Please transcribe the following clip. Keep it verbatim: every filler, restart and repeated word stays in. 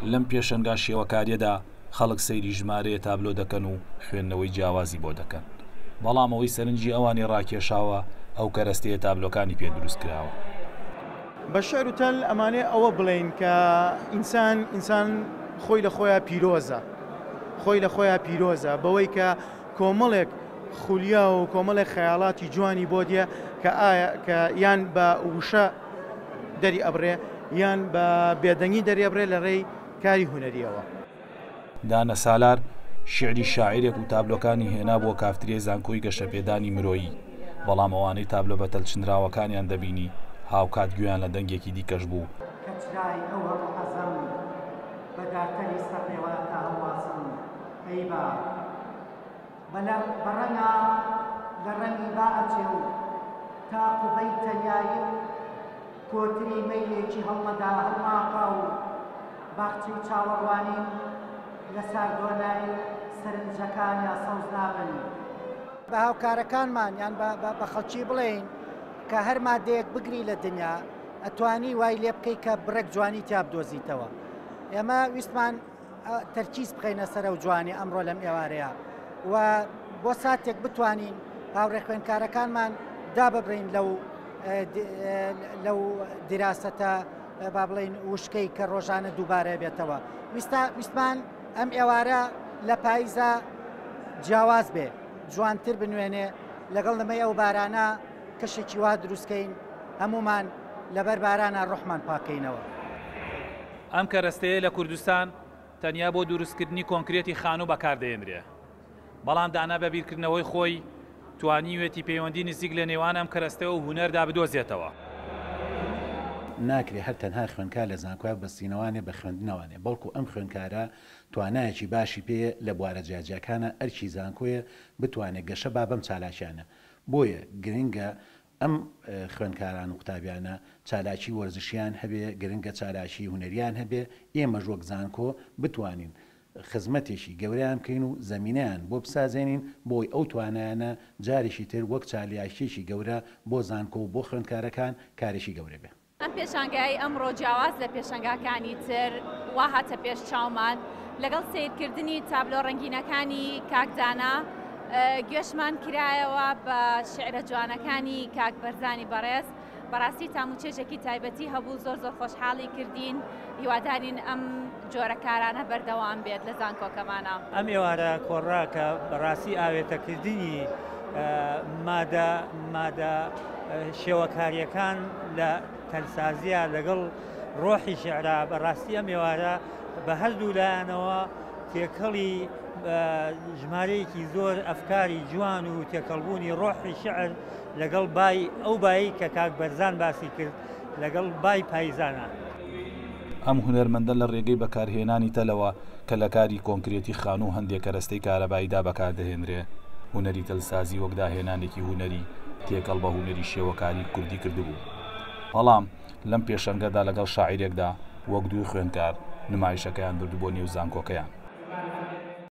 لەم پێشەنگا شێوەکاریەدا خەڵک سەیری ژمارەیە تابلۆ دەکەن و خوێندنەوەی جیاوازی بۆ دەکەن، بەڵام ئەوەی سەرنجی ئەوانی ڕاکێشاوە ئەو کەرەستەیە تابلۆکانی پێ دروست کراوە. بە شعر و تەل ئەمانێ ئەوە بڵێین کە ئینسان ئینسان خۆی لە خۆیان پیرۆزە، خۆی لە خۆیان پیرۆزە بەوەی کە کۆمەڵێک خولیا و کۆمەڵێک خەیاڵاتی جوانی بۆ دیە کە ئایا کە یان بە وشە دەری ئەبڕێ یان بە بێدەنگی دەری ئەبڕێ لە ڕێی کاری هونەریەوە. دانا سالار شعری شاعیرێک و تابلۆکانی هێنا بۆ کافتریای زانکۆی گەشەپێدانی مرۆیی، بەڵام ئەوانەی تابلۆ بە تەلچنراوەکانیان دەبینی هاوکات گوێیان لە دەنگێکی دیکەش بوو. کەچرای ئەو هەموو حەزەم بە دارتەلی سەرپێوە تا هەڵواسم ئەی با بە ڕەنگا لە ڕەنگی با ئەچێ و تا قوبەی تەنیاییم کۆتری مەیلێکی هەڵمەدا هەڵناکا و باخچەی چاوەڕوانیم لە ساردۆنای سەرنجەکانیا سەوز نابن. بە هاوکارەکانمان یان بە خەڵکی بڵێین کە هەر مادەیەک بگری لە دنیا ئەتوانی وای لێ بکەی کە بڕێک جوانی تیا بدۆزیتەوە. ئێمە ویستمان تەرکیز بخەینە سەر ئەو جوانی ئەمڕۆ لەم ئێوارەیە و بۆ ساتێک بتوانین هاوڕێ خوێندکارەکانمان داببڕین لەو لەو دیراسەتە با بڵێین وشکەی کە ڕۆژانە دووبارە بێتەوە. ویستمان ئەم ئێوارە لە پاییزە جیاواز بێ، جوانتر بنوێنێ، لەگەڵ نمەی ئەو بارانە کەشێکی وا دروستکەین هەمومان لەبەر بارانە ڕۆحمان پاکەینەوە. ئەم کەرەستەیە لە کوردستان تەنیا بۆ دروستکردنی کۆنکرێتی خانوو بەکاردەهێنرێ، بەڵام دانا بە بیرکردنەوەی خۆی توانیوێتی پەیوەندی نزیک لە نێوان ئەم کەرەستەوە و هونەردا بدۆزێتەوە. ناکرێ هەر تەنها خوێندکار لە زانکۆیا بەستینەوانێ بە خوێندنەوانێ، بەڵکو ئەم خوێندکارە توانایەکی باشی پێیە لە بوارە جیاجیاکانە، ئەرکی زانکۆیە بتوانێت گەشە با بەم چالاکیانە. بۆیە گرنگە ئەم خوێندکاران و قوتابیانە چالاکی وەرزشیان هەبێ، گرنگە چالاکی هونەریان هەبێ، ئێمەش وەک زانکۆ بتوانین خزمەتێکی گەورەیان بکەین و زەمینەیان بۆ بسازێنین بۆی ئەو توانایانە جارێکی تر وەک چالاکیەکی گەورە بۆ زانکۆ و بۆ خوێندکارەکان کارێکی گەورە بێ. ئەم پێشانگای ئەمڕۆ جیاواز لە پێشانگاکانی تر وا هاتە پێش چاومان، لەگەڵ سیرکردنی تابلۆ ڕەنگینەکانی کاکدانا گوێشمان کرایەوە بە شعرە جوانەکانی کاک بەرزانی بەڕێز. بەڕاستی تاموچێژێکی تایبەتی هەبوو، زۆر زۆر خۆشحاڵی کردین. هیوادارین ئەم جۆرەکارانە بەردەوام بێت لە زانکۆکەمانە. ئەم ئێوارە کۆڕا کە بەڕاستی ئاوێتەکردنی مادە مادە شێوەکاریەکان لە تەلسازیە لەگەڵ ڕۆحی شعرا، بەڕاستی ئەم ئێوارە بە هەردوو لایەنەوە تێکەڵی ژمارەیەکی زۆر ئەفکاری جوان و تێکەڵبوونی ڕۆحی شعر لەگەڵ بای ئەو بایی کە کاک بەرزان باسی کرد لەگەڵ بای پاییزانە. ئەم هونەرمەندە لە ڕێگەی بەکارهێنانی تەلەوە کە لە کاری کۆنکرێتی خانوو هەندێک کەرەستەی کارەباییدا بەکاردەهێنرێ، هونەری تەلسازی وەک داهێنانێکی هونەری تێکەڵ بە هونەری شێوەکاری کوردی کردبوو. بەڵام لەم پێشەنگەدا لەگەڵ شاعیرێکدا وەک دوو خوێندکار نمایشەکەیان بردو بۆ نێو زانکۆکەیان.